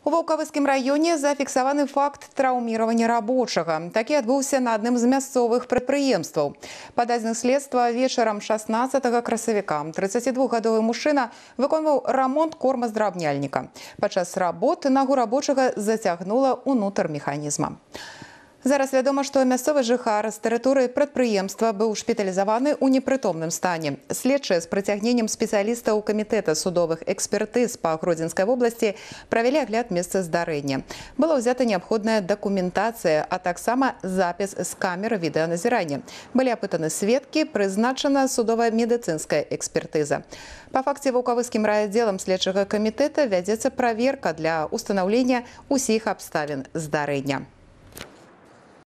У Ваўкавыскім раёне зафіксаваны факт траўміравання рабочага. Такі адбыўся на адным з мясцовых прадпрыемстваў. Па дадзеных следства, вечарам 16 красавіка 32-гадовы мужчына выконваў рамонт кормаздрабняльніка. Падчас работы нагу рабочага зацягнула ўнутр механізма. Зараз вядома, што мясцовы жыхар з тэрыторыі прадпрыемства быў шпіталізаваны ў непрытомным стане. Следчыя з прыцягненнем спецыялістаў камітэта судовых экспертыз па Гродзенскай вобласці правялі агляд месца здарэння. Была ўзята неабходная дакументацыя, а таксама запіс з камеры відэаназірання. Былі апытаны сведкі, прызначана судова-медыцынская экспертыза. Па факце Ваўкавыскім райаддзелам следчага камітэта вядзецца праверка для ўстанаўлення ўсіх абставін здарэння.